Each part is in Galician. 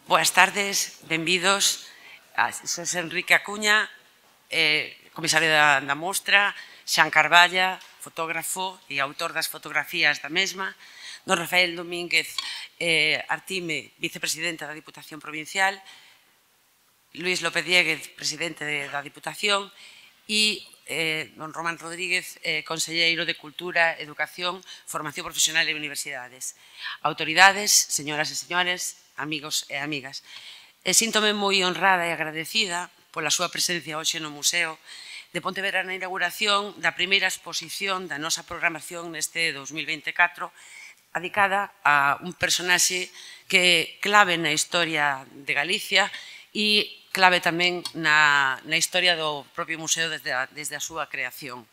Boas tardes, benvidos. Soy Enrique Acuña, comisario da mostra, Xan Carballa, fotógrafo e autor das fotografías da mesma, don Rafael Domínguez Artime, vicepresidente da Diputación Provincial, Luís López Dieguez, presidente da Diputación, e don Román Rodríguez, conselleiro de Cultura, Educación, Formación Profesional e Universidades. Autoridades, señoras e señores, amigos e amigas. Síntome moi honrada e agradecida pola súa presencia hoxe no Museo de Pontevedra na inauguración da primeira exposición da nosa programación neste 2024, dedicada a un personaxe que é clave na historia de Galicia e clave tamén na historia do propio museo desde a súa creación.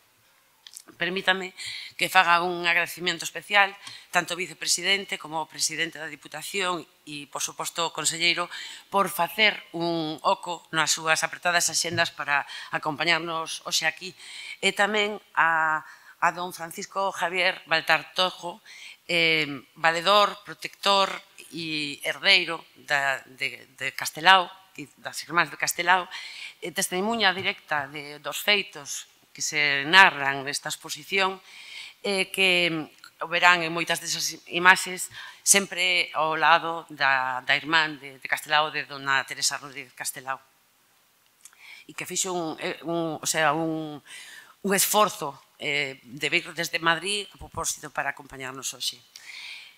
Permítame que faga un agradecimiento especial tanto ao vicepresidente como ao presidente da Diputación e, por suposto, ao conselleiro por facer un oco nas súas apretadas axendas para acompañarnos hoxe aquí e tamén a don Francisco Javier Baltar-Tojo, valedor, protector e herdeiro de Castelao e das irmás de Castelao, testemunha directa dos feitos que se narran nesta exposición, que verán en moitas desas imaxes sempre ao lado da irmán de Castelao, de dona Teresa Rodríguez Castelao, e que fixo un esforzo de vir desde Madrid a propósito para acompañarnos hoxe.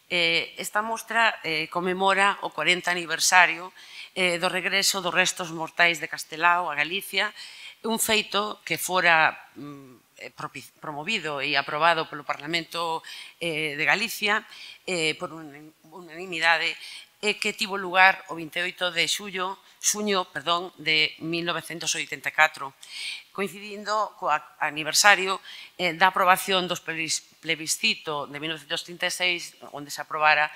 Esta mostra conmemora o 40 aniversario do regreso dos restos mortais de Castelao a Galicia, un feito que fora promovido e aprobado polo Parlamento de Galicia por unanimidade e que tivo lugar o 28 de xuño de 1984, coincidindo co aniversario da aprobación dos plebiscito de 1936, onde se aprobara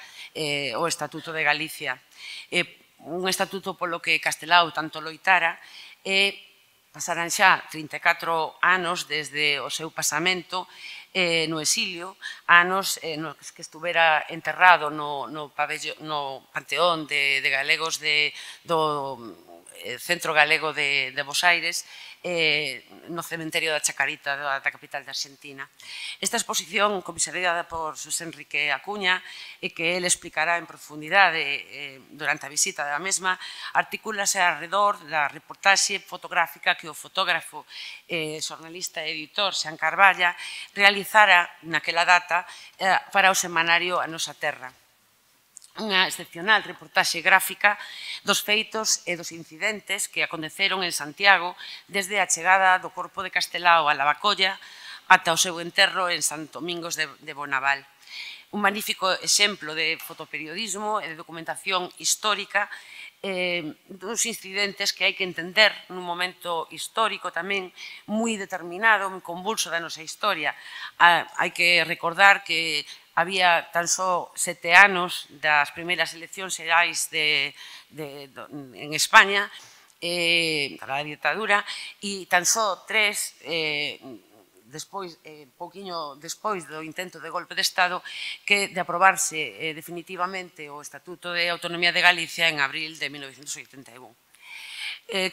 o Estatuto de Galicia. Un estatuto polo que Castelao tanto loitara e pasaran xa 34 anos desde o seu pasamento no exilio, anos nos que estuvera enterrado no Panteón de Galegos do Centro Galego de Bos Aires, no cementerio da Chacarita da capital de Argentina. Esta exposición, comisariada por Xosé Enrique Acuña, e que ele explicará en profundidade durante a visita da mesma, articúlase alrededor da reportaxe fotográfica que o fotógrafo, xornalista e editor Xan Carballa realizara naquela data para o semanario A Nosa Terra. Unha excepcional reportaxe gráfica dos feitos e dos incidentes que aconteceron en Santiago desde a chegada do corpo de Castelao a Lavacolla ata o seu enterro en Sant Domingos de Bonaval. Un magnífico exemplo de fotoperiodismo e de documentación histórica dos incidentes que hai que entender nun momento histórico tamén moi determinado, moi convulso da nosa historia. Hai que recordar que había tan só 7 anos das primeiras eleccións xerais en España, para a ditadura, e tan só 3 pouquiño despois do intento de golpe de Estado que de aprobarse definitivamente o Estatuto de Autonomía de Galicia en abril de 1981.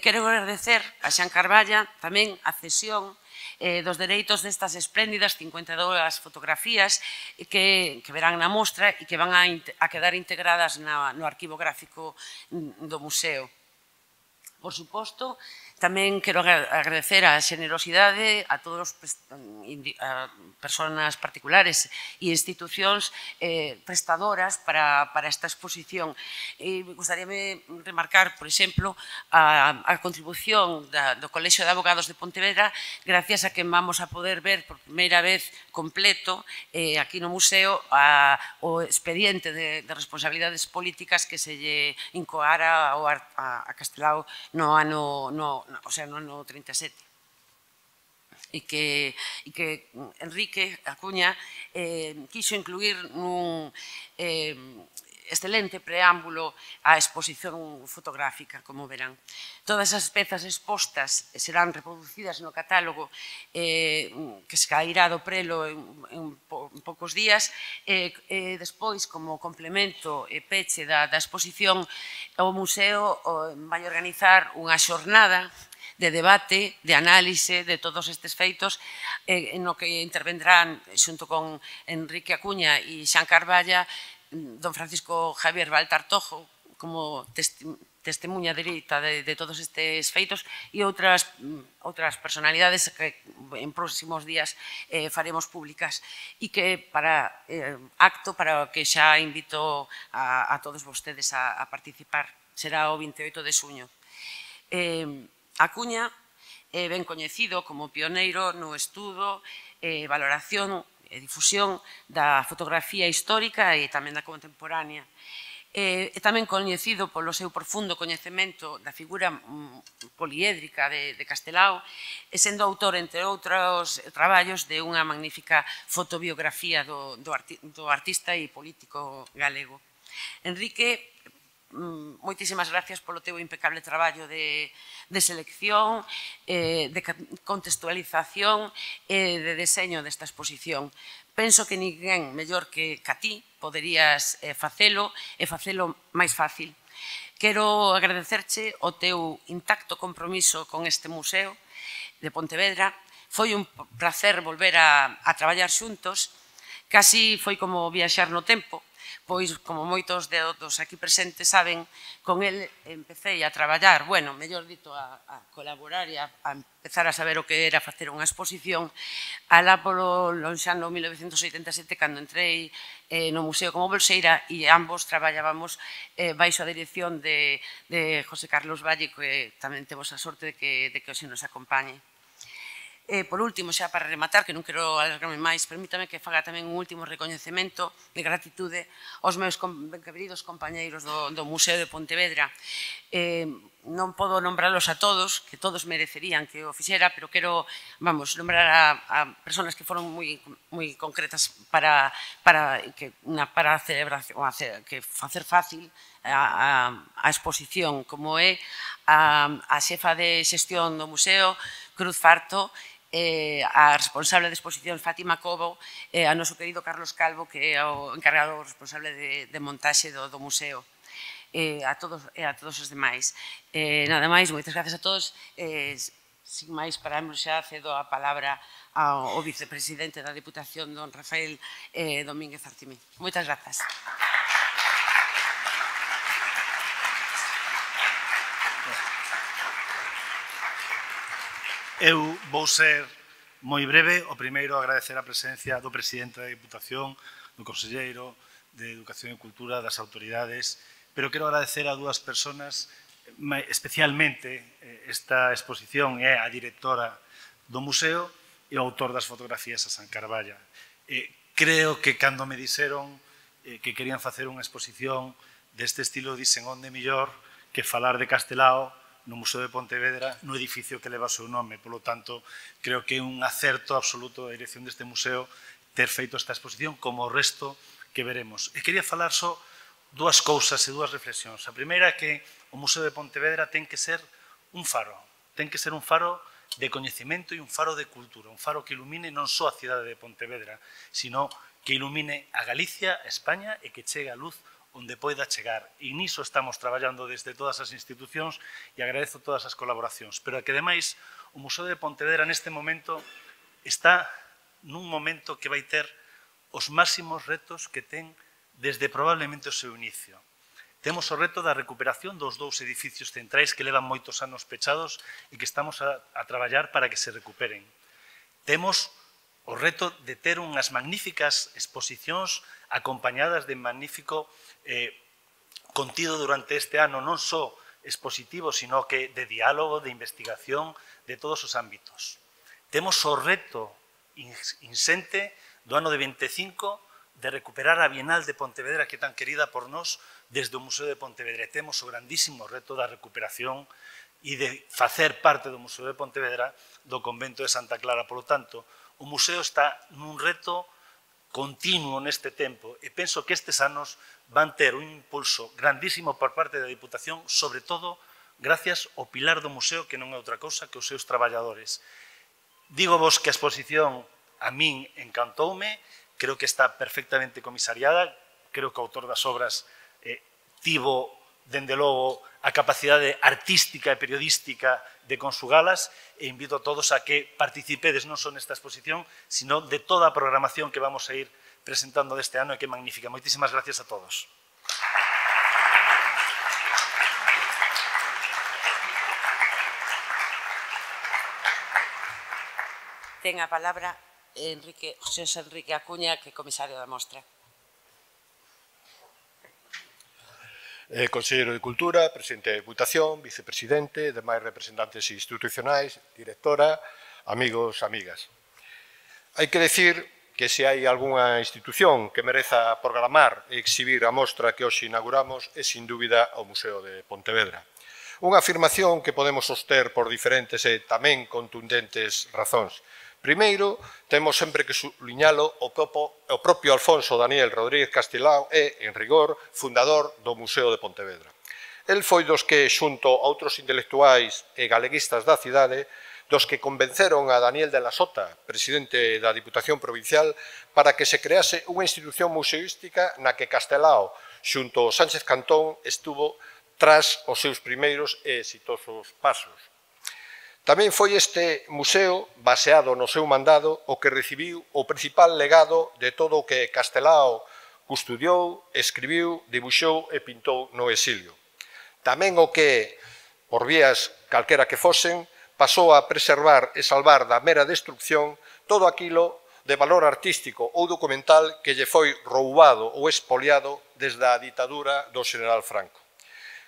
Quero agradecer a Xan Carballa tamén a cesión dos dereitos destas espléndidas 52 fotografías que verán na mostra e que van a quedar integradas no arquivo gráfico do museo. Por suposto, tamén quero agradecer a xenerosidade a todas as persoas particulares e institucións prestadoras para esta exposición. Gostaríame remarcar, por exemplo, a contribución do Colexio de Abogados de Pontevedra, gracias a que vamos a poder ver por primeira vez completo aquí no museo o expediente de responsabilidades políticas que se lle incoara a Castelao no ano 37. E que Enrique Acuña quixo incluir excelente preámbulo á exposición fotográfica, como verán. Todas as pezas expostas serán reproducidas no catálogo que se cairá do prelo en poucos días. Despois, como complemento e peche da exposición, o museo vai organizar unha xornada de debate, de análise de todos estes feitos, no que intervendrán, xunto con Enrique Acuña e Xan Carballa, don Francisco Javier Valtartojo, como testemunha dereita de todos estes feitos, e outras personalidades que en próximos días faremos públicas, e que para o que xa invito a todos vostedes a participar. Será o 28 de xuño. Acuña é ben coñecido como pioneiro no estudo, valoración e difusión da fotografía histórica e tamén da contemporánea. É tamén coñecido polo seu profundo coñecemento da figura poliédrica de Castelao e sendo autor, entre outros traballos, de unha magnífica fotobiografía do artista e político galego. Enrique, moitísimas gracias polo teu impecable traballo de selección, de contextualización e de deseño desta exposición. Penso que ninguén mellor que a ti poderías facelo e facelo máis fácil. Quero agradecerche o teu intacto compromiso con este museo de Pontevedra. Foi un placer volver a traballar xuntos. Casi foi como viaxar no tempo, pois, como moitos dos aquí presentes saben, con el empecé a traballar, bueno, mellor dito, a colaborar e a empezar a saber o que era facer unha exposición alá polo lonxano 1987, cando entrei no museo como bolseira, e ambos traballábamos baixo a dirección de José Carlos Valle, que tamén temos a sorte de que hoxe nos acompañe. Por último, xa para rematar, que non quero alargarme máis, permítame que faga tamén un último recoñecemento de gratitude aos meus queridos compañeiros do Museo de Pontevedra. Non podo nombralos a todos, que todos merecerían que o fixera, pero quero, nombrar a persoas que foron moi concretas para facer fácil a exposición, como é a xefa de xestión do museo, Cruz Farto, a responsable de exposición Fátima Cobo, a noso querido Carlos Calvo, que é o encargado responsable de montaxe do museo, a todos os demais. Nada máis, moitas gracias a todos. Sin máis, paramos xa, cedo a palabra ao vicepresidente da Deputación, don Rafael Domínguez Artimí. Moitas grazas. Eu vou ser moi breve. O primeiro, agradecer a presencia do presidente da Diputación, do conselleiro de Educación e Cultura, das autoridades, pero quero agradecer a dúas persoas, especialmente esta exposición é a directora do museo e o autor das fotografías, a Xan Carballa. Creo que cando me dixeron que querían facer unha exposición deste estilo, dixen onde mellor que falar de Castelao no Museo de Pontevedra, no edificio que leva o seu nome. Polo tanto, creo que é un acerto absoluto da dirección deste museo ter feito esta exposición, como o resto que veremos. E quería falar só dúas cousas e dúas reflexións. A primeira é que o Museo de Pontevedra ten que ser un faro. Ten que ser un faro de coñecemento e un faro de cultura. Un faro que ilumine non só a cidade de Pontevedra, sino que ilumine a Galicia, a España, e que chegue a luz onde poida chegar. E niso estamos traballando desde todas as institucións e agradezo todas as colaboracións. Pero que, ademais, o Museo de Pontevedra neste momento está nun momento que vai ter os máximos retos que ten desde probablemente o seu inicio. Temos o reto da recuperación dos dous edificios centrais que levan moitos anos pechados e que estamos a traballar para que se recuperen. Temos o reto de ter unhas magníficas exposicións acompañadas de magnífico contido durante este ano, non só expositivo, sino que de diálogo, de investigación, de todos os ámbitos. Temos o reto insente do ano de 25 de recuperar a Bienal de Pontevedra, que é tan querida por nós desde o Museo de Pontevedra. E temos o grandísimo reto da recuperación e de facer parte do Museo de Pontevedra do Convento de Santa Clara. Por lo tanto, o museo está nun reto continuo neste tempo e penso que estes anos van ter un impulso grandísimo por parte da Diputación, sobre todo gracias ao pilar do museo, que non é outra cousa que os seus traballadores. Digo vos que a exposición a min encantoume, creo que está perfectamente comisariada, creo que o autor das obras tivo, dende logo, a capacidade artística e periodística de consugalas, e invito a todos a que participedes non só nesta exposición, sino de toda a programación que vamos a ir presentando deste ano, e que é magnífica. Moitísimas gracias a todos. Ten a palabra José Enrique Acuña, que é comisario da mostra. Conselleiro de Cultura, presidente de Diputación, vicepresidente, demais representantes institucionais, directora, amigos, amigas. Hai que decir que se hai algunha institución que mereza programar e exhibir a mostra que hoxe inauguramos é, sin dúbida, o Museo de Pontevedra. Unha afirmación que podemos soster por diferentes e tamén contundentes razóns. Primeiro, temos sempre que subliñalo o propio Alfonso Daniel Rodríguez Castelao é, en rigor, fundador do Museo de Pontevedra. El foi dos que, xunto a outros intelectuais e galeguistas da cidade, dos que convenceron a Daniel de la Sota, presidente da Diputación Provincial, para que se crease unha institución museística na que Castelao, xunto a Sánchez Cantón, estuvo tras os seus primeiros e exitosos pasos. Tamén foi este museo, baseado no seu mandado, o que recibiu o principal legado de todo o que Castelao custodiou, escribiu, dibuixou e pintou no exilio. Tamén o que, por vías calquera que fosen, pasou a preservar e salvar da mera destrucción todo aquilo de valor artístico ou documental que lle foi roubado ou expoliado desde a ditadura do Xeneral Franco.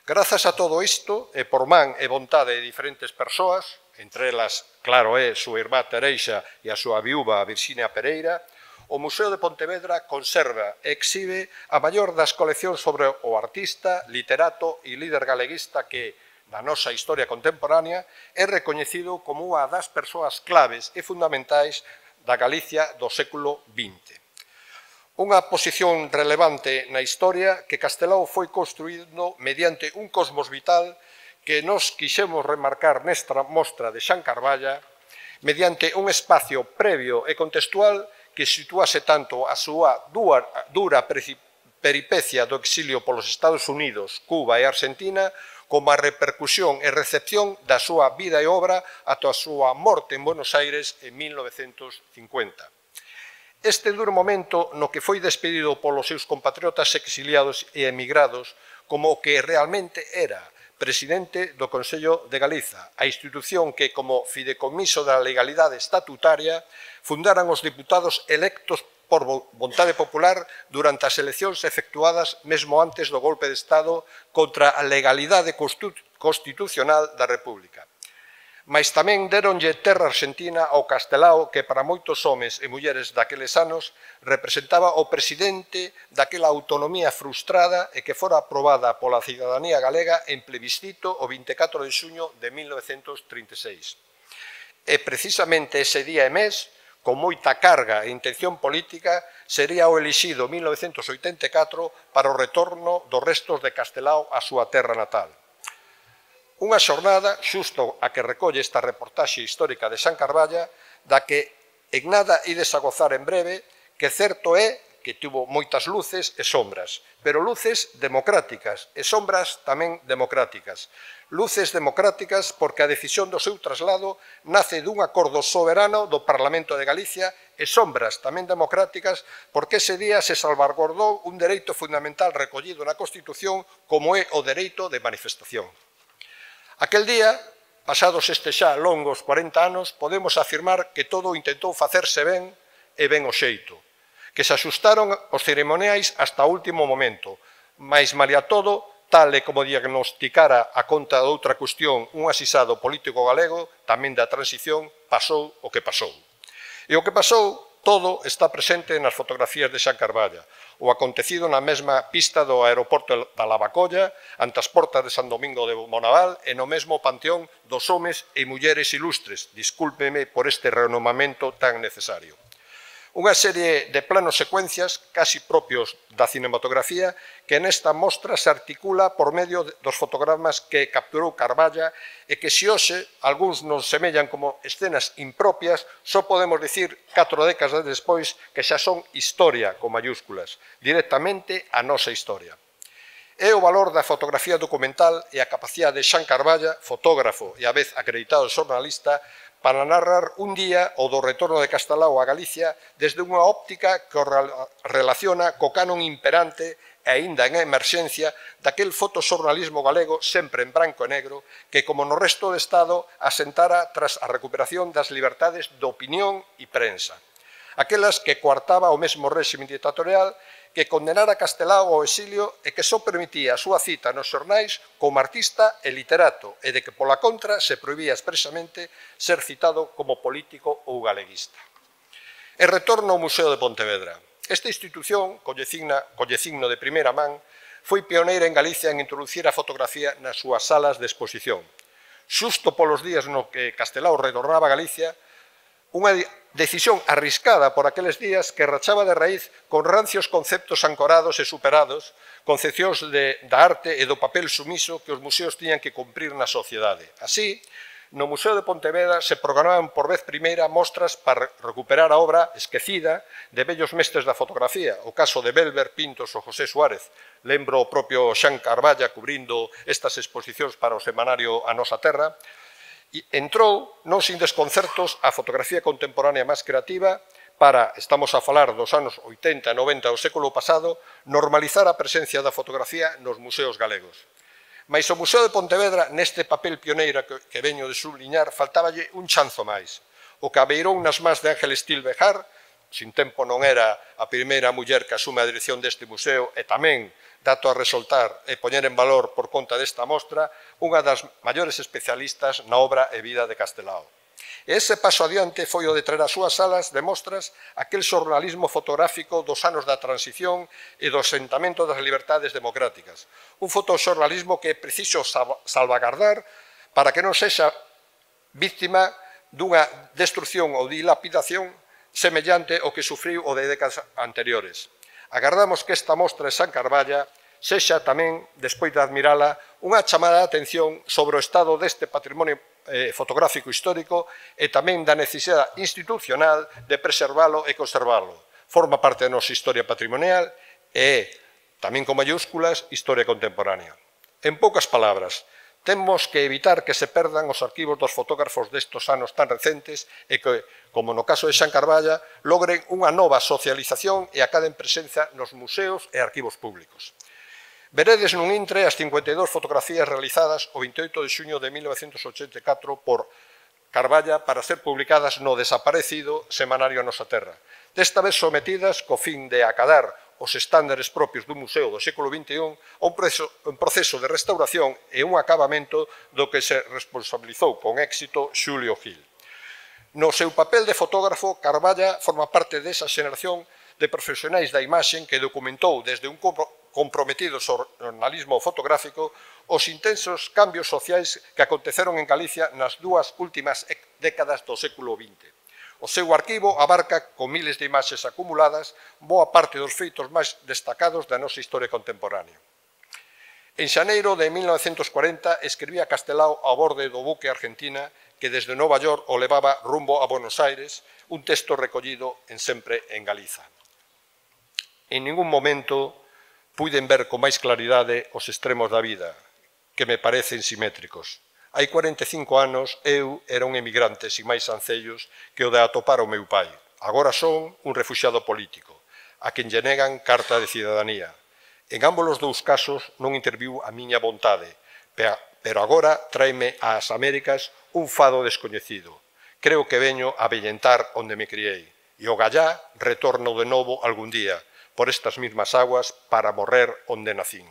Grazas a todo isto, e por man e vontade de diferentes persoas, entre elas, claro, é súa irmá Tereixa e a súa viúva Virxinia Pereira, o Museo de Pontevedra conserva e exhibe a maior das coleccións sobre o artista, literato e líder galeguista que, na nosa historia contemporánea, é recoñecido como unha das persoas claves e fundamentais da Galicia do século XX. Unha posición relevante na historia que Castelao foi construído mediante un cosmos vital que nos quixemos remarcar nesta mostra de Xan Carballa mediante un espacio previo e contextual que situase tanto a súa dura peripecia do exilio polos Estados Unidos, Cuba e Argentina como a repercusión e recepción da súa vida e obra ata a súa morte en Buenos Aires en 1950. Este duro momento no que foi despedido polos seus compatriotas exiliados e emigrados como o que realmente era presidente do Consello de Galiza, a institución que, como fideicomiso da legalidade estatutaria, fundaran os diputados electos por vontade popular durante as eleccións efectuadas mesmo antes do golpe de Estado contra a legalidade constitucional da República. Mais tamén deronlle terra argentina ao Castelao que para moitos homes e mulleres daqueles anos representaba o presidente daquela autonomía frustrada e que fora aprobada pola cidadanía galega en plebiscito o 24 de xuño de 1936. E precisamente ese día e mes, con moita carga e intención política, sería o elixido 1984 para o retorno dos restos de Castelao á súa terra natal. Unha xornada, xusto a que recolle esta reportaxe histórica de Xan Carballa, da que en nada ides a gozar en breve, que certo é que tuvo moitas luces e sombras, pero luces democráticas e sombras tamén democráticas. Luces democráticas porque a decisión do seu traslado nace dun acordo soberano do Parlamento de Galicia e sombras tamén democráticas porque ese día se salvaguardou un dereito fundamental recollido na Constitución como é o dereito de manifestación. Aquel día, pasados estes xa longos 40 anos, podemos afirmar que todo intentou facerse ben e ben o xeito, que se axustaron os ceremoniais hasta o último momento, mais malia todo, tal e como diagnosticara a conta de outra cuestión un asisado político galego, tamén da transición, pasou o que pasou. E o que pasou, todo está presente nas fotografías de Xan Carballa, o acontecido na mesma pista do aeroporto da Lavacolla, ante as portas de San Domingo de Bonaval e no mesmo panteón dos homes e mulleres ilustres, discúlpeme por este renomamento tan necesario. Unha serie de planos secuencias casi propios da cinematografía que nesta mostra se articula por medio dos fotogramas que capturou Carballa e que se hoxe algúns nos semellan como escenas impropias, só podemos dicir 4 décadas despois que xa son historia con mayúsculas, directamente a nosa historia. É o valor da fotografía documental e a capacidade de Xan Carballa, fotógrafo e a vez acreditado xornalista, para narrar un día o do retorno de Castelao a Galicia desde unha óptica que o relaciona co canon imperante e aínda en emerxencia daquel fotoxornalismo galego sempre en branco e negro que, como no resto do Estado, asentara tras a recuperación das libertades de opinión e prensa. Aquelas que coartaba o mesmo réxime dictatorial que condenara Castelao ao exilio e que só permitía a súa cita nos xornais como artista e literato e de que, pola contra, se prohibía expresamente ser citado como político ou galeguista. E retorno ao Museo de Pontevedra. Esta institución, colle signo de primeira man, foi pioneira en Galicia en introducir a fotografía nas súas salas de exposición. Xusto polos días no que Castelao retornaba a Galicia, unha decisión arriscada por aqueles días que rachaba de raíz con rancios conceptos ancorados e superados, concepcións da arte e do papel sumiso que os museos tiñan que cumprir na sociedade. Así, no Museo de Pontevedra se programaban por vez primeira mostras para recuperar a obra esquecida de vellos mestres da fotografía, o caso de Belver, Pintos ou José Suárez. Lembro o propio Xan Carballa cubrindo estas exposicións para o semanario A Nosa Terra. Entrou, non sin desconcertos, a fotografía contemporánea máis creativa para, estamos a falar dos anos 80 e 90 do século pasado, normalizar a presencia da fotografía nos museos galegos. Mais o Museo de Pontevedra, neste papel pioneiro que veño de subliñar, faltáballe un chanzo máis. O que abeirou nas más de Ángel Estil Bejar, sin tempo non era a primeira muller que asume a dirección deste museo e tamén, dato a resoltar e poñer en valor por conta desta mostra, unha das maiores especialistas na obra e vida de Castelao. E ese paso adiante foi o de traer as súas salas de mostras aquel xornalismo fotográfico dos anos da transición e do asentamento das libertades democráticas. Un fotoxornalismo que é preciso salvagardar para que non sexa víctima dunha destrucción ou dilapidación semellante ao que sufriu o de décadas anteriores. Agardamos que esta mostra de Xan Carballa sexa tamén, despois de admirala, unha chamada de atención sobre o estado deste patrimonio fotográfico histórico e tamén da necesidade institucional de preservalo e conservalo. Forma parte da nosa historia patrimonial e, tamén con mayúsculas, historia contemporánea. En poucas palabras, temos que evitar que se perdan os arquivos dos fotógrafos destos anos tan recentes e que, como no caso de Xan Carballa, logren unha nova socialización e acaden presenza nos museos e arquivos públicos. Veredes nun intre as 52 fotografías realizadas o 28 de xuño de 1984 por Carballa para ser publicadas no desaparecido semanario A Nosa Terra. Desta vez sometidas co fin de acadar os estándares propios dun museo do século XXI a un proceso de restauración e un acabamento do que se responsabilizou con éxito Xulio Gil. No seu papel de fotógrafo, Carballa forma parte desa xeración de profesionais da imaxe que documentou desde un comprometido xornalismo fotográfico os intensos cambios sociais que aconteceron en Galicia nas dúas últimas décadas do século XX. O seu arquivo abarca, con miles de imaxes acumuladas, boa parte dos feitos máis destacados da nosa historia contemporánea. En xaneiro de 1940 escribía Castelao a borde do buque Argentina que desde Nova York o levaba rumbo a Buenos Aires, un texto recollido en Sempre en Galiza. En ningún momento puiden ver con máis claridade os extremos da vida, que me parecen simétricos. Hai 45 anos eu era un emigrante sin máis ancellos que o de atopar o meu pai. Agora son un refuxiado político, a quen lle negan carta de cidadanía. En ambos os dous casos non interviu a miña vontade, pero agora traime ás Américas un fado descoñecido. Creo que veño a vellentar onde me criei, e o gallá retorno de novo algún día, por estas mesmas aguas, para morrer onde nacín.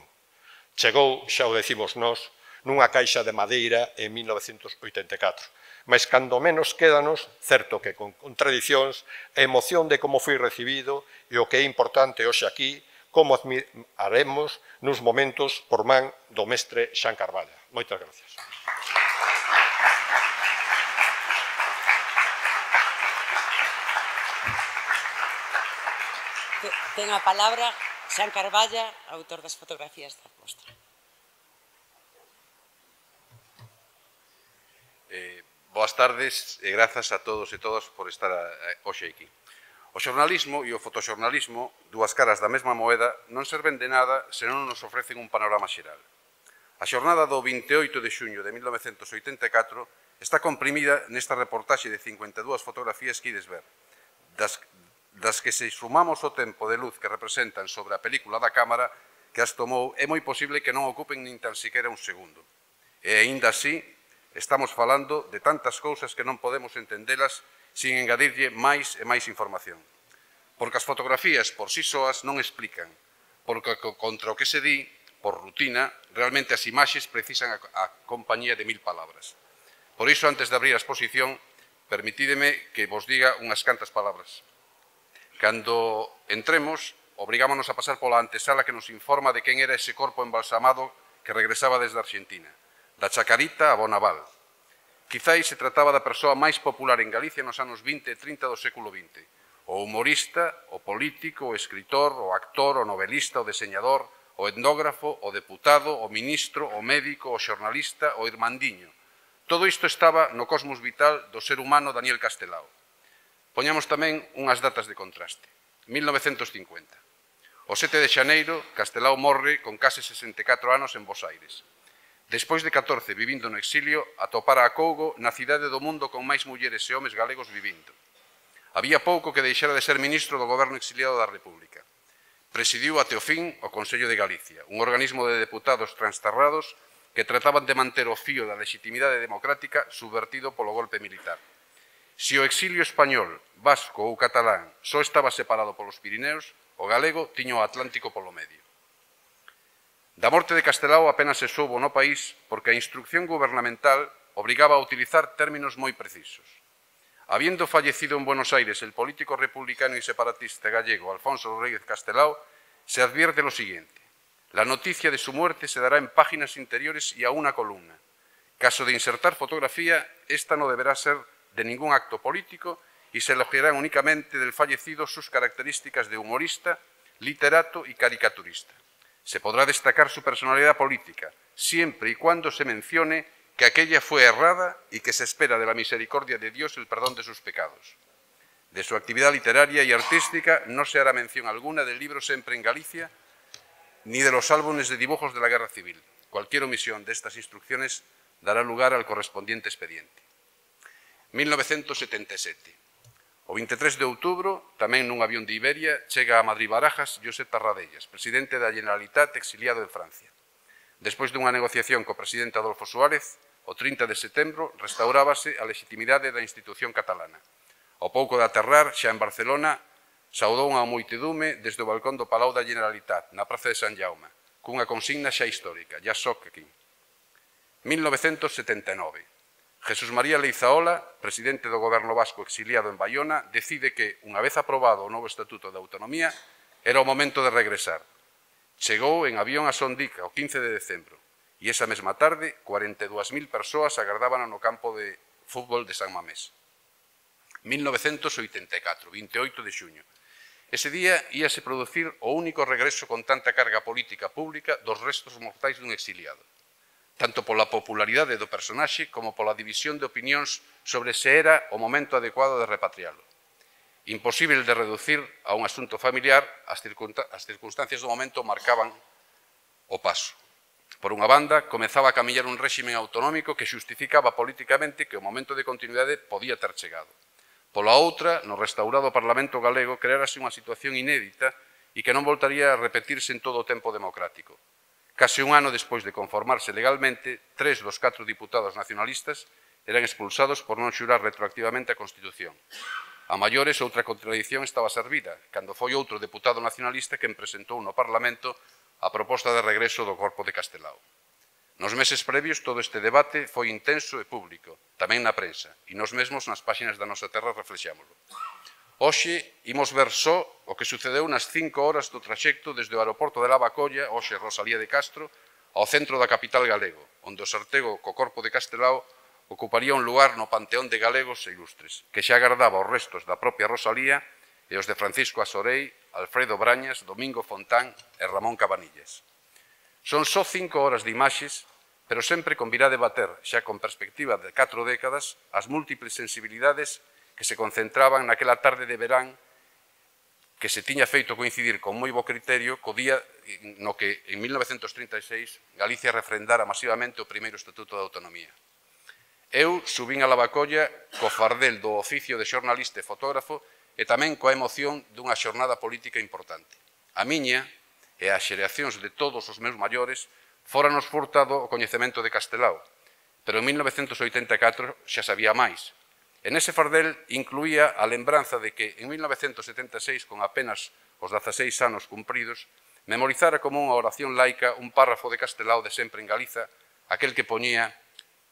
Chegou, xa o decimos nós, nunha caixa de madeira en 1984. Mas cando menos quédanos, certo que con contradicións, a emoción de como foi recibido e o que é importante hoxe aquí, como admiraremos nos momentos por man do mestre Xan Carballa. Moitas gracias. Ten a palabra Xan Carballa, autor das fotografías da mostra. Boas tardes e grazas a todos e todas por estar hoxe aquí. O xornalismo e o fotoxornalismo, dúas caras da mesma moeda, non serven de nada se non nos ofrecen un panorama xeral. A xornada do 28 de xuño de 1984 está comprimida nesta reportaxe de 52 fotografías que ides ver, das que se sumamos o tempo de luz que representan sobre a película da cámara que as tomou, é moi posible que non ocupen nin tan siquiera un segundo. E aínda así, estamos falando de tantas cousas que non podemos entendelas sin engadirlle máis e máis información. Porque as fotografías por sí soas non explican, porque contra o que se di, por rutina, realmente as imaxes precisan a compañía de 1000 palabras. Por iso, antes de abrir a exposición, permitídeme que vos diga unhas cantas palabras. Cando entremos, obrigámonos a pasar pola antesala que nos informa de quen era ese corpo embalsamado que regresaba desde Argentina, da Chacarita a Bonaval. Quizáis se trataba da persoa máis popular en Galicia nos anos 20 e 30 do século XX. O humorista, o político, o escritor, o actor, o novelista, o deseñador, o etnógrafo, o deputado, o ministro, o médico, o xornalista, o irmandiño. Todo isto estaba no cosmos vital do ser humano Daniel Castelao. Poñamos tamén unhas datas de contraste. 1950. O 7 de xaneiro, Castelao morre con case 64 anos en Bos Aires. Despois de 14 vivindo no exilio, atopara a Cougo na cidade do mundo con máis mulleres e homes galegos vivindo. Había pouco que deixara de ser ministro do goberno exiliado da República. Presidiu até o fin o Consello de Galicia, un organismo de deputados transterrados que trataban de manter o fío da legitimidade democrática subvertido polo golpe militar. Se o exilio español, vasco ou catalán só estaba separado polos Pirineos, o galego tiña o Atlántico polo medio. Da morte de Castelao apenas se soubo no país porque a instrucción gubernamental obrigaba a utilizar términos moi precisos. Habiendo fallecido en Buenos Aires el político republicano y separatista gallego Alfonso Rodríguez Castelao, se advierte lo siguiente. La noticia de su muerte se dará en páginas interiores y a una columna. Caso de insertar fotografía, esta no deberá ser de ningún acto político y se elogiarán únicamente del fallecido sus características de humorista, literato y caricaturista. Se podrá destacar su personalidad política, siempre y cuando se mencione que aquella fue errada y que se espera de la misericordia de Dios el perdón de sus pecados. De su actividad literaria y artística no se hará mención alguna del libro Sempre en Galicia, ni de los álbumes de dibujos de la Guerra Civil. Cualquier omisión de estas instrucciones dará lugar al correspondiente expediente. 1977. O 23 de outubro, tamén nun avión de Iberia, chega a Madrid-Barajas Josep Tarradellas, presidente da Generalitat exiliado en Francia. Despois dunha negociación co presidente Adolfo Suárez, o 30 de setembro restaurábase a legitimidade da institución catalana. Ao pouco de aterrar, xa en Barcelona, saudou unha multitude desde o balcón do Palau da Generalitat, na Praza de San Jaume, cunha consigna xa histórica, ya soc aquí. 1979. Jesús María Leizaola, presidente do goberno vasco exiliado en Baiona, decide que, unha vez aprobado o novo Estatuto de Autonomía, era o momento de regresar. Chegou en avión a Sondica o 15 de decembro e esa mesma tarde 42.000 persoas agardaban no campo de fútbol de San Mamés. 1984, 28 de xuño. Ese día íase producir o único regreso con tanta carga política pública dos restos mortais dun exiliado, tanto pola popularidade do personaxe como pola división de opinións sobre se era o momento adecuado de repatrialo. Imposible de reducir a un asunto familiar, as circunstancias do momento marcaban o paso. Por unha banda, comezaba a camiñar un réxime autonómico que xustificaba políticamente que o momento de continuidade podía ter chegado. Pola outra, no restaurado Parlamento galego, creárase unha situación inédita e que non voltaría a repetirse en todo o tempo democrático. Case un ano despois de conformarse legalmente, 3 dos 4 diputados nacionalistas eran expulsados por non xurar retroactivamente a Constitución. A maiores, outra contradición estaba servida, cando foi outro deputado nacionalista quen presentou no Parlamento a proposta de regreso do corpo de Castelao. Nos meses previos, todo este debate foi intenso e público, tamén na prensa, e nos mesmos nas páxinas da nosa terra reflexámoslo. Hoxe imos ver só o que sucedeu nas 5 horas do traxecto desde o aeroporto de Lavacolla, hoxe Rosalía de Castro, ao centro da capital galego, onde o sortego co corpo de Castelao ocuparía un lugar no panteón de galegos e ilustres, que xa agardaba os restos da propia Rosalía e os de Francisco Asorei, Alfredo Brañas, Domingo Fontán e Ramón Cabanillas. Son só 5 horas de imaxes, pero sempre convirá debater, xa con perspectiva de 4 décadas, as múltiples sensibilidades que se concentraban naquela tarde de verán que se tiña feito coincidir con moi bo criterio co día no que, en 1936, Galicia refrendara masivamente o primeiro Estatuto de Autonomía. Eu subín a Lavacolla co fardel do oficio de xornalista e fotógrafo e tamén coa emoción dunha xornada política importante. A miña e as xeracións de todos os meus maiores fóranos furtado o coñecemento de Castelao, pero en 1984 xa sabía máis. En ese fardel incluía a lembranza de que en 1976, con apenas os 16 anos cumpridos, memorizara como unha oración laica un párrafo de Castelao de Sempre en Galiza, aquel que poñía: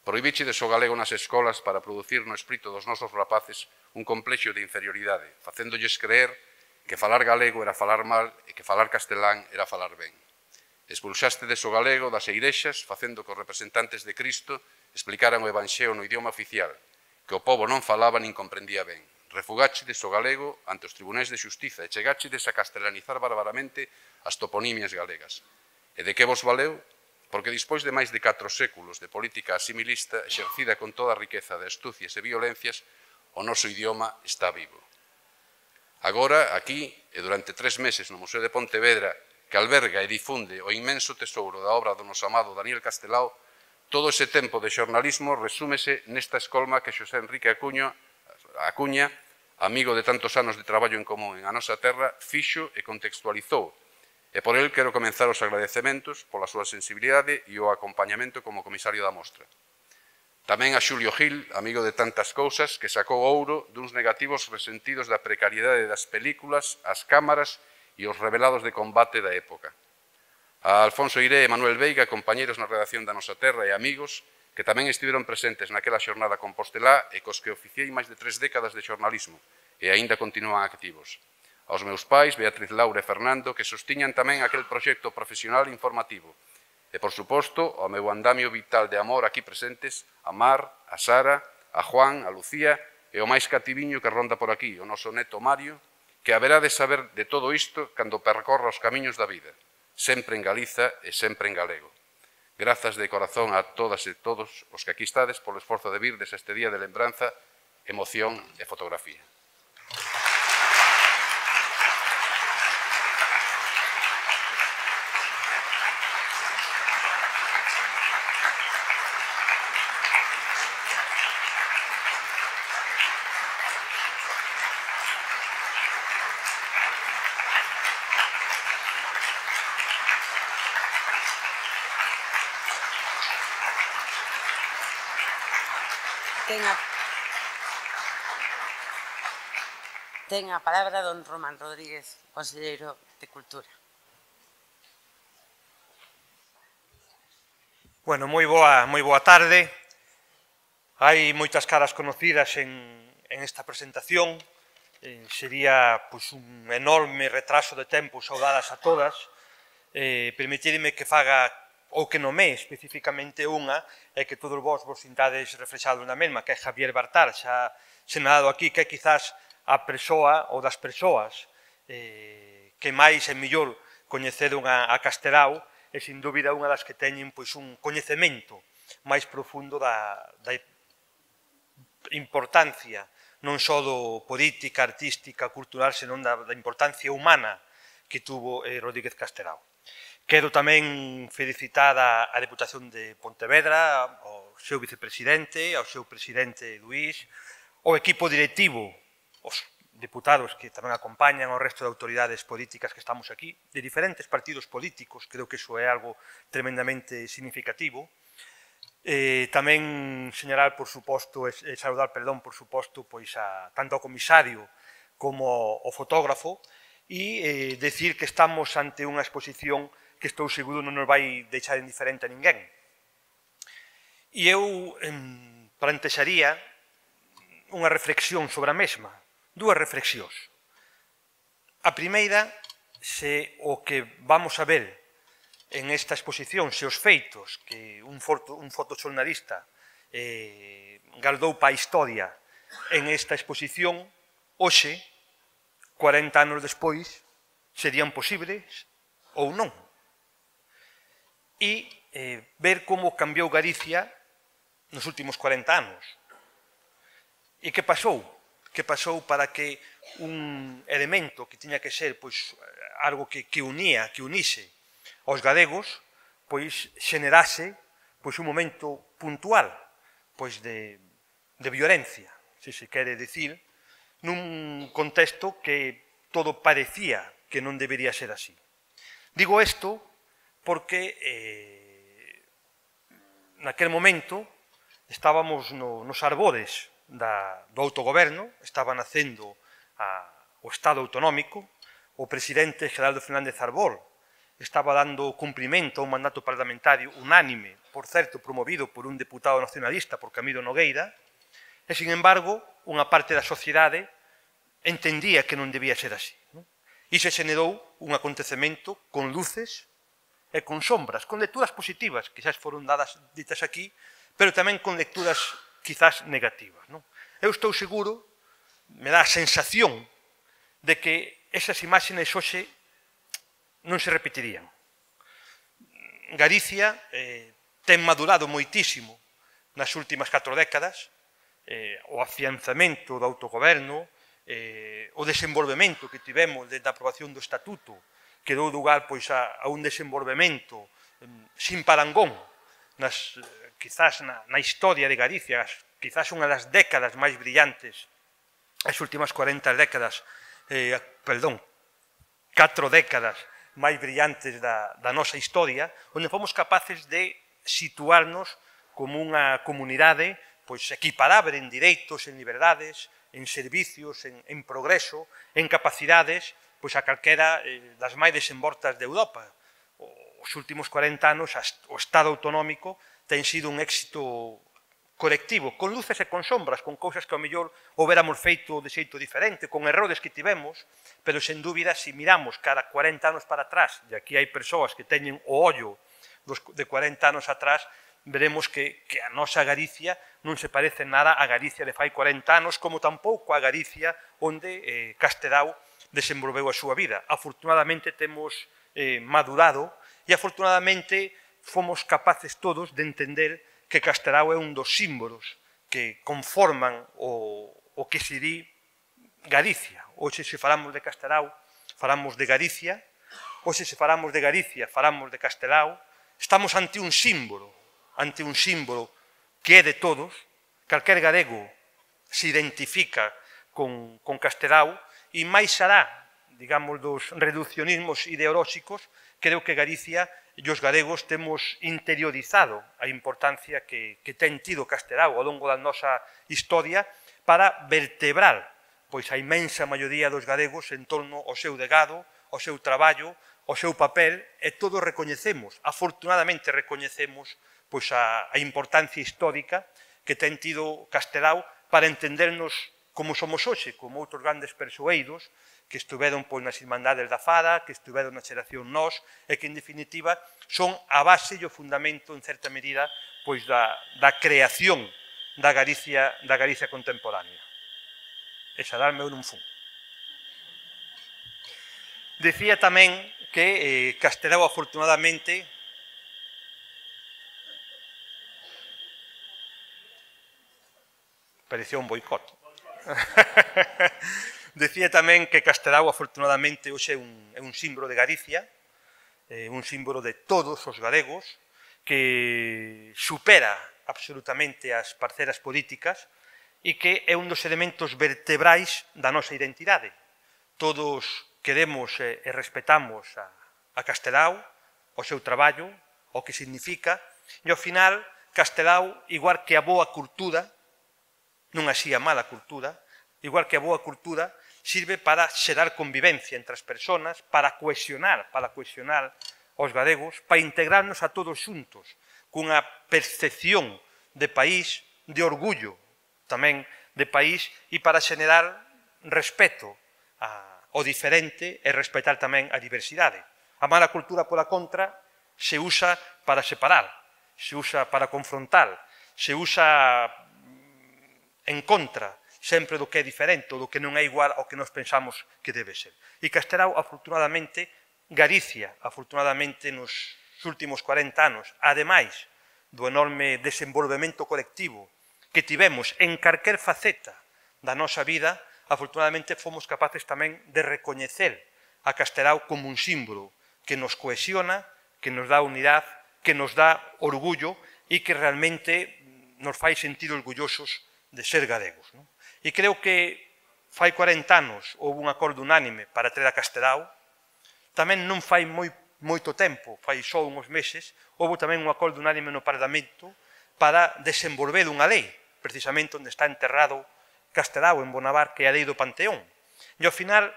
prohibíchedes o galego nas escolas para producir no espírito dos nosos rapaces un complexo de inferioridade, facéndolles creer que falar galego era falar mal e que falar castelán era falar ben. Expulxástedes o galego das eirexas, facendo que os representantes de Cristo explicaran o Evanxeo no idioma oficial, que o povo non falaba nin comprendía ben. Refugáchedes o galego ante os tribunais de xustiza e chegáchedes a castelanizar barbaramente as toponimias galegas. E de que vos valeu? Porque dispois de máis de 4 séculos de política asimilista exercida con toda a riqueza de astucias e violencias, o noso idioma está vivo. Agora, aquí, e durante 3 meses no Museo de Pontevedra, que alberga e difunde o inmenso tesouro da obra do noso amado Daniel Castelao, todo ese tempo de xornalismo resúmese nesta escolma que Xosé Enrique Acuña, amigo de tantos anos de traballo en común en a nosa terra, fixo e contextualizou. E por el quero comenzar os agradecementos pola súa sensibilidade e o acompañamento como comisario da mostra. Tamén a Xulio Gil, amigo de tantas cousas, que sacou ouro duns negativos resentidos da precariedade das películas, as cámaras e os revelados de combate da época. A Alfonso Iré e Manuel Veiga, compañeiros na redacción da Nosa Terra e amigos, que tamén estiveron presentes naquela xornada compostelá e cos que oficiei máis de 3 décadas de xornalismo e aínda continúan activos. Aos meus pais, Beatriz, Laura e Fernando, que sostiñan tamén aquel proxecto profesional informativo. E, por suposto, ao meu andamio vital de amor aquí presentes, a Mar, a Sara, a Juan, a Lucía e o máis cativiño que ronda por aquí, o noso neto Mario, que haberá de saber de todo isto cando percorra os camiños da vida, sempre en Galiza e sempre en galego. Grazas de corazón a todas e todos os que aquí estades polo esforzo de virdes este día de lembranza, emoción e fotografía. Ten a palabra don Román Rodríguez, conselleiro de Cultura. Bueno, moi boa tarde. Hai moitas caras conocidas en esta presentación. Sería un enorme retraso de tempo saudadas a todas. Permitidme que faga ou que nomee especificamente unha e que todos vos sintades reflexados na mesma, que é Javier Bartar, xa senado aquí, que é quizás a persoa ou das persoas que máis e mellor coñeceron a Castelao e, sin dúbida, unha das que teñen un coñecemento máis profundo da importancia non só do política, artística, cultural, senón da importancia humana que tuvo Rodríguez Castelao. Quero tamén felicitar a Deputación de Pontevedra, ao seu vicepresidente, ao seu presidente Luís, ao equipo directivo, os deputados que tamén acompañan, ao resto de autoridades políticas que estamos aquí, de diferentes partidos políticos, creo que iso é algo tremendamente significativo. Tamén señalar, por suposto, saudar, por suposto, tanto ao comisario como ao fotógrafo e decir que estamos ante unha exposición que estou seguro non nos vai deixar indiferente a ninguén. E eu plantexaría unha reflexión sobre a mesma, dúas reflexións. A primeira, se o que vamos a ver en esta exposición, se os feitos que un fotoxornalista gardou para a historia en esta exposición, hoxe, 40 anos despois, serían posibles ou non. E ver como cambiou Galicia nos últimos 40 anos. E que pasou? Que pasou para que un elemento que tiña que ser algo que unise aos galegos, xenerase un momento puntual de violencia, se se quere dicir, nun contexto que todo parecía que non debería ser así. Digo isto porque naquel momento estábamos nos arbores do autogoberno, estaba nacendo o Estado autonómico, o presidente Gerardo Fernández Arbol estaba dando cumprimento a un mandato parlamentario unánime, por certo, promovido por un deputado nacionalista, por Camilo Nogueira, e, sin embargo, unha parte da sociedade entendía que non debía ser así. E se xenerou un acontecemento con luces e con sombras, con lecturas positivas, quizás foron ditas aquí, pero tamén con lecturas quizás negativas. Eu estou seguro, me dá a sensación de que esas imágenes hoxe non se repetirían. Galicia ten madurado moitísimo nas últimas 4 décadas, o afianzamento do autogoberno, o desenvolvemento que tivemos desde a aprobación do Estatuto, que deu lugar a un desenvolvemento sin parangón, quizás na historia de Galicia, quizás unha das décadas máis brillantes, as últimas 40 décadas, 4 décadas máis brillantes da nosa historia, onde fomos capaces de situarnos como unha comunidade equiparable en direitos, en liberdades, en servicios, en progreso, en capacidades, a calquera das máis desenvoltas de Europa. Os últimos 40 anos, o Estado autonómico ten sido un éxito colectivo, con luces e con sombras, con cousas que ao mellor houbéramos feito de xeito diferente, con errores que tivemos, pero sen dúbida, se miramos cara 40 anos para atrás, e aquí hai persoas que teñen o ollo de 40 anos atrás, veremos que a nosa Galicia non se parece nada a Galicia de fai 40 anos, como tampouco a Galicia onde Castelao desenvolveu a súa vida. Afortunadamente temos madurado e afortunadamente fomos capaces todos de entender que Castelao é un dos símbolos que conforman o que se di Galicia. Hoxe, se falamos de Castelao, falamos de Galicia. Hoxe, se falamos de Galicia, falamos de Castelao. Estamos ante un símbolo que é de todos. Calquer galego se identifica con Castelao e máis alá, digamos, dos reduccionismos ideolóxicos, creo que Galicia e os galegos temos interiorizado a importancia que ten tido Castelao ao longo da nosa historia para vertebrar a imensa maioría dos galegos en torno ao seu legado, ao seu traballo, ao seu papel, e todos recoñecemos, afortunadamente recoñecemos, a importancia histórica que ten tido Castelao para entendernos como somos hoxe, como outros grandes persoeiros que estuveron nas Irmandades da Fada, que estuveron na xeración Nós, e que, en definitiva, son a base e o fundamento, en certa medida, da creación da Galicia contemporánea. E xa darme un fun. Decía tamén que Castelao, afortunadamente, parecía un boicot. Decía tamén que Castelao, afortunadamente, hoxe é un símbolo de Galicia, un símbolo de todos os galegos, que supera absolutamente as parcelas políticas e que é un dos elementos vertebrais da nosa identidade. Todos queremos e respetamos a Castelao, o seu traballo, o que significa, e ao final Castelao, igual que a boa cultura, non así a mala cultura, igual que a boa cultura, sirve para xerar convivencia entre as persoas, para cohesionar os galegos, para integrarnos a todos xuntos, cunha percepción de país, de orgullo tamén de país, e para xenerar respeto ao diferente e respetar tamén a diversidade. A mala cultura, pola contra, se usa para separar, se usa para confrontar, se usa en contra sempre do que é diferente, ou do que non é igual ao que nos pensamos que debe ser. E Castelao, afortunadamente, Galicia, afortunadamente, nos últimos 40 anos, ademais do enorme desenvolvemento colectivo que tivemos en calquer faceta da nosa vida, afortunadamente fomos capaces tamén de recoñecer a Castelao como un símbolo que nos cohesiona, que nos dá unidade, que nos dá orgullo e que realmente nos fai sentir orgullosos de ser galegos. E creo que fai 40 anos houve un acordo unánime para traer a Castelao, tamén non fai moito tempo, fai só uns meses, houve tamén un acordo unánime no Parlamento para desenvolver unha lei, precisamente onde está enterrado Castelao, en Bonavar, que é a lei do Panteón. E ao final,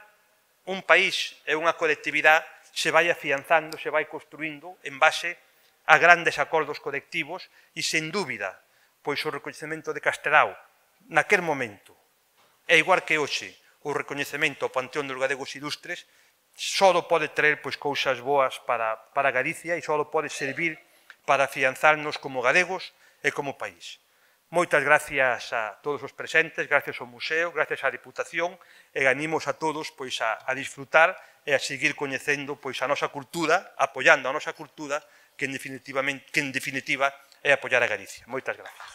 un país e unha colectividade se vai afianzando, se vai construindo en base a grandes acordos colectivos e, sen dúbida, pois o recoñecemento de Castelao naquel momento, é igual que hoxe, o recoñecemento ao Panteón dos Galegos Ilustres, só pode traer cousas boas para Galicia e só pode servir para afianzarnos como galegos e como país. Moitas gracias a todos os presentes, gracias ao Museo, gracias á Diputación e animos a todos a disfrutar e a seguir coñecendo a nosa cultura, apoiando a nosa cultura, que en definitiva é apoiar a Galicia. Moitas gracias.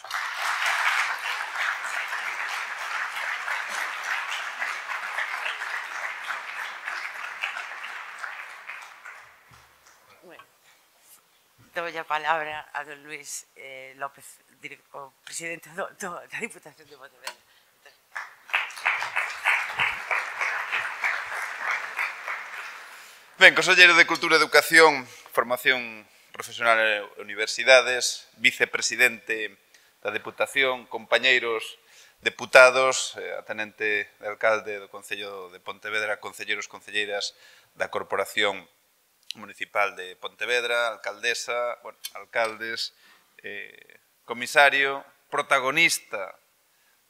Dou a palabra a don Luís López, o presidente da Diputación de Pontevedra. Ben, conselleiro de Cultura, Educación, Formación Profesional e Universidades, vicepresidente da Diputación, compañeiros deputados, a tenente de alcalde do Concello de Pontevedra, concelleiros, concelleiras da Corporación Municipal de Pontevedra, alcaldesa, alcaldes, comisario, protagonista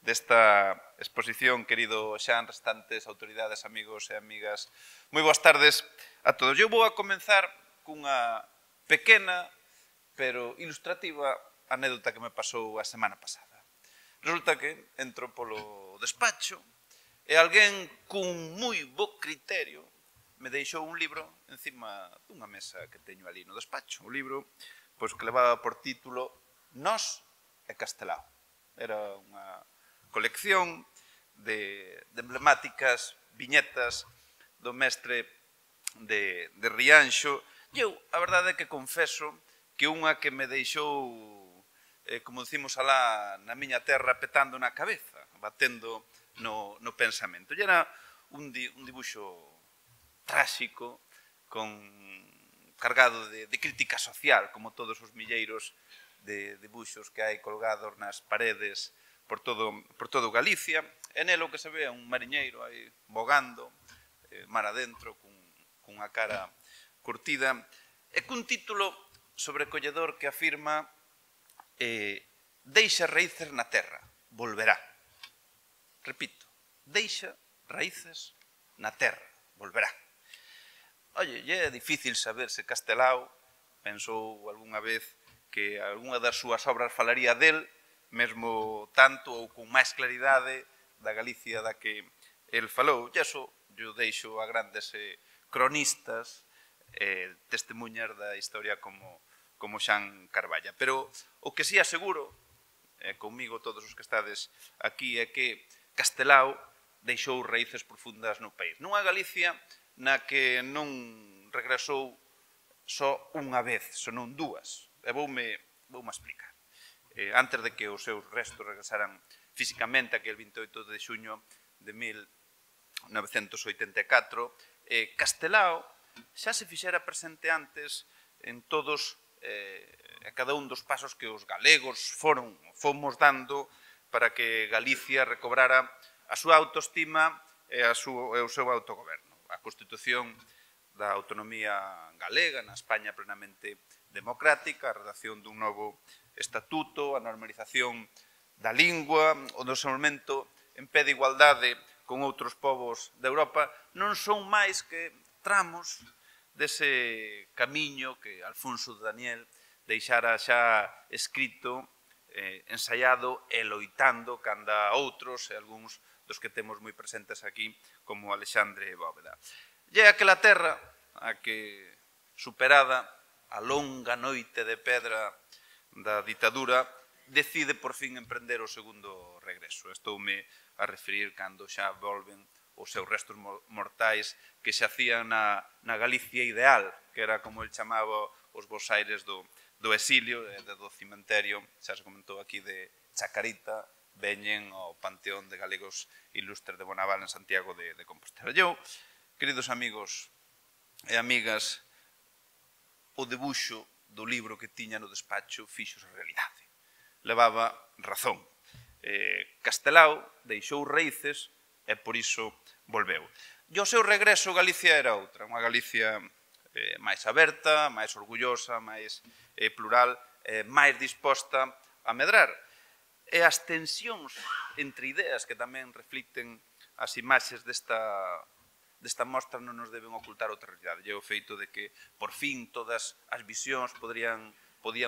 desta exposición, querido Xan, restantes autoridades, amigos e amigas. Moi boas tardes a todos. Eu vou a comenzar cunha pequena, pero ilustrativa anécdota que me pasou a semana pasada. Resulta que entro polo despacho e alguén cun moi bo criterio me deixou un libro encima dunha mesa que teño ali no despacho. Un libro que levaba por título Nós e Castelao. Era unha colección de emblemáticas viñetas do mestre de Rianxo. E eu, a verdade é que confeso que unha que me deixou, como decimos alá na miña terra, petando na cabeza, batendo no pensamento. E era un dibuixo tráxico, cargado de crítica social, como todos os milleiros de dibuixos que hai colgados nas paredes por todo Galicia. E nelo que se ve un mariñeiro aí bogando, mar adentro, cunha cara curtida, e cun título sobrecolledor que afirma deixa raíces na terra, volverá. Repito, deixa raíces na terra, volverá. Oye, é difícil saber se Castelao pensou algunha vez que algunha das súas obras falaría del, mesmo tanto ou con máis claridade da Galicia da que el falou. E iso eu deixo a grandes cronistas, testemunhas da historia como Xan Carballa. Pero o que si aseguro, comigo todos os que estades aquí, é que Castelao deixou raíces profundas no país. Nunha Galicia na que non regresou só unha vez, senón dúas. E voume explicar. Antes de que os seus restos regresaran físicamente aquel 28 de xuño de 1984, Castelao xa se fixera presente antes en todos e cada un dos pasos que os galegos fomos dando para que Galicia recobrara a súa autoestima e o seu autogoberno. A Constitución da autonomía galega na España plenamente democrática, a redacción dun novo estatuto, a normalización da lingua, o desenvolvemento en pé de igualdade con outros povos de Europa, non son máis que tramos dese camiño que Alfonso Daniel deixara xa escrito ensaiado e loitando canda outros e algúns dos que temos moi presentes aquí, como Alexandre Bóveda. E é aquela terra a que, superada a longa noite de pedra da ditadura, decide por fin emprender o segundo regreso. Estoume a referir cando xa volven os seus restos mortais que se hacían na Galicia ideal, que era como el chamaba os bosaires do exilio, do cimenterio, xa se comentou aquí, de Chacarita, veñen ao Panteón de Galegos Ilustres de Bonaval en Santiago de Compostela. Eu, queridos amigos e amigas, o debuxo do libro que tiña no despacho fixos a realidade. Levaba razón. Castelao deixou raíces e por iso volveu. E o seu regreso Galicia era outra, unha Galicia máis aberta, máis orgullosa, máis plural, máis disposta a medrar. E as tensións entre ideas que tamén reflicten as imaxes desta mostra non nos deben ocultar outra realidade. E o feito de que, por fin, todas as visións podían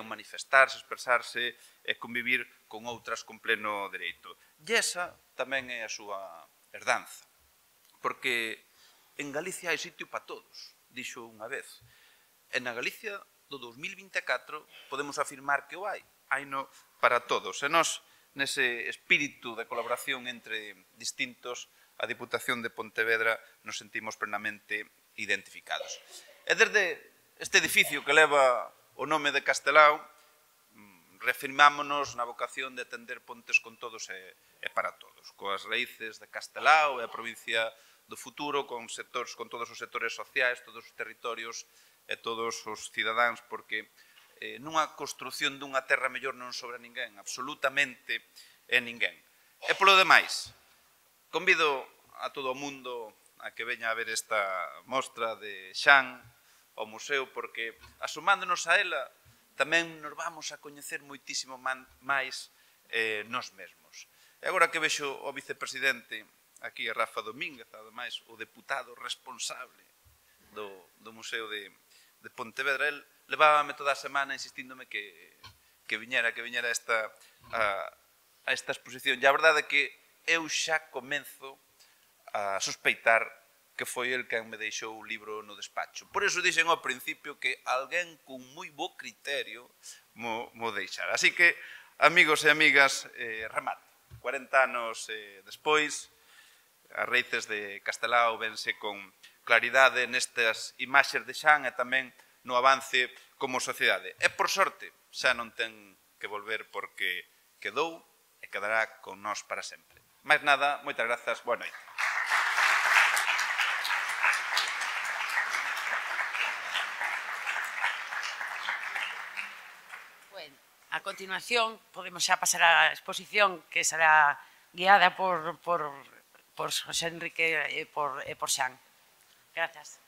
manifestarse, expresarse e convivir con outras con pleno dereito. E esa tamén é a súa herdanza, porque en Galicia hai sitio para todos, dixo unha vez. E na Galicia do 2024 podemos afirmar que o hai, haino para todos. E nós, nese espírito de colaboración entre distintos, a Diputación de Pontevedra nos sentimos plenamente identificados. E desde este edificio que leva o nome de Castelao, reafirmámonos na vocación de atender pontes con todos e para todos, coas raíces de Castelao e a provincia do futuro, con todos os sectores sociais, todos os territorios e todos os cidadáns, porque nunha construción dunha terra mellor non sobra ninguén, absolutamente ninguén. E polo demais, convido a todo o mundo a que veña a ver esta mostra de Xan ao museo, porque asomándonos a ela tamén nos vamos a coñecer moitísimo máis nós mesmos. E agora que vexo o vicepresidente aquí, a Rafa Domínguez, ademais o deputado responsable do Museo de Pontevedra, el levábame toda a semana insistíndome que viñera a esta exposición. E a verdade é que eu xa comenzo a sospeitar que foi el quen me deixou o libro no despacho. Por iso dixen ao principio que alguén con moi bo criterio mo deixara. Así que, amigos e amigas, remate. 40 anos despois, as raíces de Castelao vense con claridade nestas imaxes de Xan e tamén no avance como sociedade. E, por sorte, xa non ten que volver porque quedou e quedará con nós para sempre. Máis nada, moitas grazas, boa noite. A continuación, podemos xa pasar á exposición que será guiada por José Enrique e por Xan. Grazas.